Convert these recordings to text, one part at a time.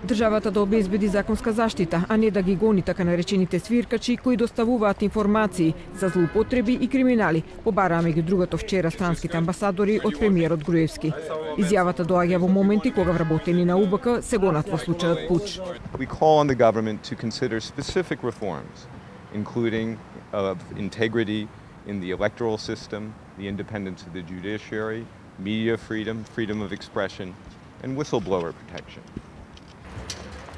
Државата да обезбеди законска заштита, а не да ги гони така наречените свиркачи кои доставуваат информации за злоупотреби и криминали, побараа меѓу другото вчера странските амбасадори од премиерот Груевски. Изјавата доаѓа во моменти кога вработени на УБК се гонат во случајот пуч. We call on the government to consider specific reforms, including of integrity in the electoral system, the independence of the judiciary, media freedom, freedom of expression, and whistleblower protection.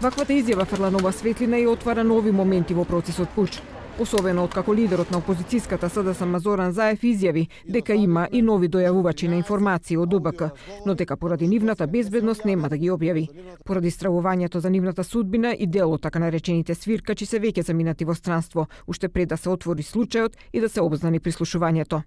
Ваквата изјава фрла нова светлина и отвара нови моменти во процесот пуч. Особено откако лидерот на опозицијската СДСМ Зоран Заев изјави дека има и нови дојавувачи на информации од УБК, но дека поради нивната безбедност нема да ги објави. Поради стравувањето за нивната судбина и дел од така наречените свиркачи се веќе заминати во странство, уште пред да се отвори случајот и да се обзнани прислушувањето.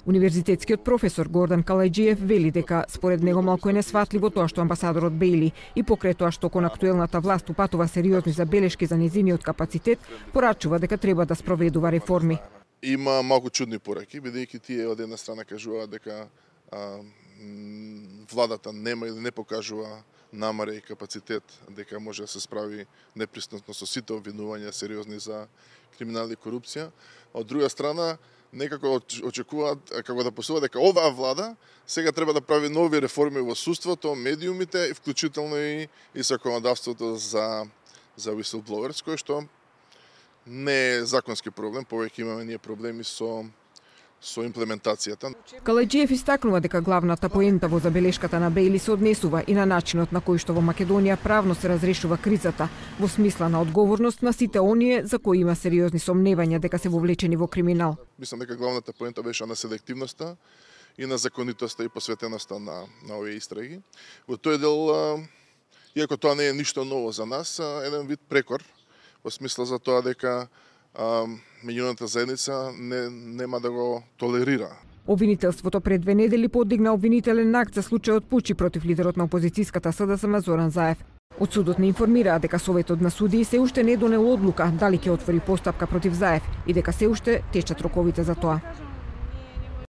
Универзитетскиот професор Гордан Калајџиев вели дека според него малку е несватливо тоа што амбасадорот Бејли и покрај тоа што кон актуелната власт упатува сериозни забелешки за нејзиниот капацитет, порачува дека треба да спроведува реформи. Има малку чудни пораки, бидејќи тие од една страна кажуваат дека владата нема или не покажува намера и капацитет дека може да се справи непристапно со сите обвинувања сериозни за криминал и корупција. Од друга страна, некако очекуваат како да посува дека оваа влада сега треба да прави нови реформи во судството, медиумите, вклучително и законодавството за whistleblowers, кој што не е законски проблем, повеќе имаме ние проблеми со имплементацијата. Калајџиев истакнува дека главната поента во забелешката на Бејли се однесува и на начинот на кој што во Македонија правно се разрешува кризата, во смисла на одговорност на сите оние за кои има сериозни сомневања дека се вовлечени во криминал. Мислам дека главната поента беше на селективноста и на законитоста и посветеноста на овие истраги. Во тој дел, иако тоа не е ништо ново за нас, еден вид прекор, во смисла за тоа дека меѓународната заедница нема да го толерира. Обвинителството пред 2 недели подигна обвинителен акт за случајот пучи против лидерот на опозицијската СДСМ Зоран Заев. Од судот не информираа дека Советот на судии се уште не донел одлука дали ќе отвори постапка против Заев и дека се уште течат роковите за тоа.